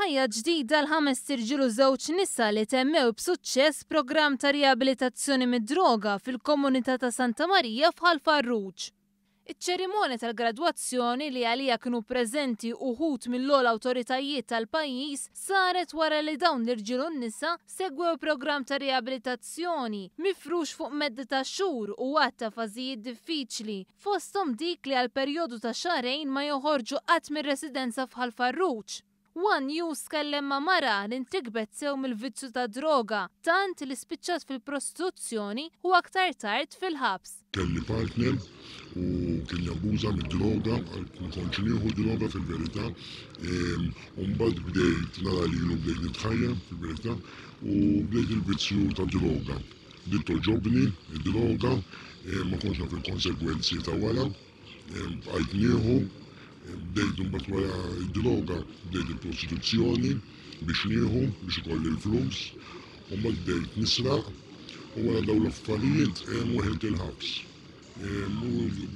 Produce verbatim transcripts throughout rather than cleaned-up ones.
Ħajja ġdida għal ħamest irġiel u żewġ nisa li temmew b'suċċess programm ta' riabilitazzjoni mid-droga fil-komunità ta' Santa Marija f'Ħal Farruġ. Iċ-ċerimonja tal-gradwazzjoni, li għalija kienu preżenti uħud mill-ogħla awtoritajiet tal-pajjiż, saret wara li dawn l-irġiel u n-nisa segwew programm ta' riabilitazzjoni mifrux fuq medda ta' xhur u għadd ta' fażijiet diffiċli, fosthom dik li għal perjodu ta' xahrejn ma joħorġu qatt mir-residenza f'Ħal Farruġ. One News tkellem ma' mara li ntrikbet sew mill-vizzju ta' droga, tant li spiċċat fil-prostituzzjoni u aktar tard fil-ħabs. Kelli partner u kien jabbuża mid-droga, ma kontx nieħu droga fil-verità. U mbagħad bdejt nara lilu, bdejt nitħajja fil-verità u bdejt il-vizzju ta' droga. Bdiet togħġobni id-droga, ma kontx naf il-konsegwenzi ta' wara, bqajt nieħu. Bdejt mbagħad wara id-droga, bdejt il-prostituzzjoni biex nieħu, biex ikolli l-flus, u mbagħad bdejt nisraq u wara dawn l-affarijiet weħilt il-ħabs. U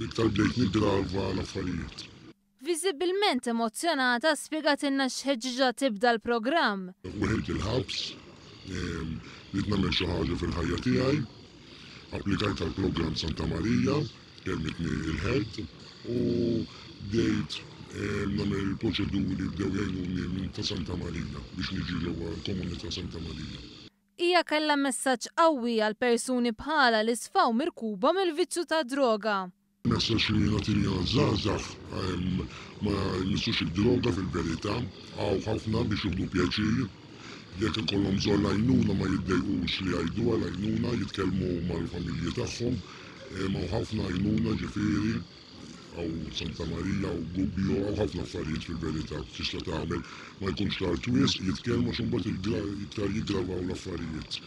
iktar bdejt niggrava l-affarijiet. Viżibilment emozjonata, spjegatilna x'ħeġġiġha tibda l-programm. Weħilt il-ħabs, bdejt nagħmel xi ħaġa fil-ħajja tiegħi, applikajt għall-programm Santa Marija, kelmitni il-head u bdejt nagħmel il-proċeduri, bdew jgħinuni minn ta' Santa Marija biex niġi ġewwa l-komunità Santa Marija. Hija kellha messaġġ qawwi għal persuni bħala li sfaw mirkuba mill-vizzju ta' droga. Messaġġ li nagħti żgħażagħ: ma jmissux id-droga fil-verità, hawn ħafna biex jieħdu pjaċir. Jekk ikollhom bżonn għajnuna, ma jiddejqux li jgħidu għal għajnuna, jitkellmu mal-familji tagħhom, hawn ħafna għajnuna, ġifieri hawn Santa Marija u Gubbio, hawn ħafna affarijiet fil-verità tista' tagħmel, ma jkunx tard wisq, jitkellmu għax imbagħad iktar jiggravaw l-affarijiet.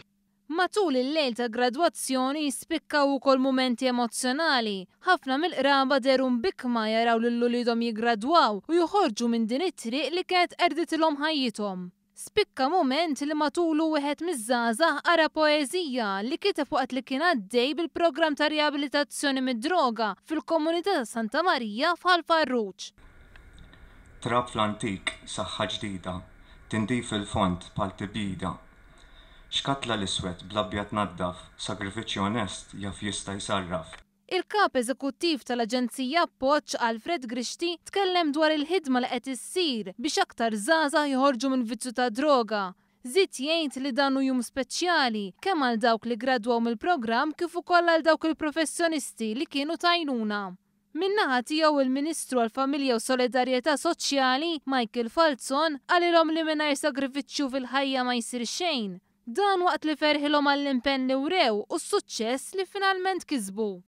Matul il-lejl ta' gradwazzjoni spikkaw ukoll mumenti emozzjonali. Ħafna mill-qraba dehru mbikkma jaraw lil uliedhom jiggradwaw u joħorġu minn din it-triq li kienet qerditilhom ħajjithom. Spikka moment li matulu wieħed miż-żgħażagħ qara poeżija li kiteb waqt li kien għaddej bil-programm ta' riabilitazzjoni mid-droga fil-komunità ta' Santa Marija f'Ħal Farruġ. Trab fl-antik, saħħa ġdida, tindif il-fond bħal tibjida. Xkatla l-iswed bl-abjad naddaf, sagrifiċċju onest jaf jista' jsarraf. Il-kap eżekuttiv tal-Aġenzija Appoġġ, Alfred Grixti, tkellem dwar il-ħidma li qed issir biex aktar żgħażagħ joħorġu minn vizzju ta' droga. Żied jgħid li dan hu jum speċjali kemm għal dawk li gradwaw mill-programm kif ukoll għal dawk il-professjonisti li kienu t'għajnuna. Min-naħa tiegħu, il-Ministru għall-Familja u Solidarjetà Soċjali Michael Falzon qalilhom li mingħajr sagrifiċċju fil-ħajja ma jsir xejn. Dan waqt li ferħilhom għall-impenn li wrew u s-suċċess li finalment kisbu.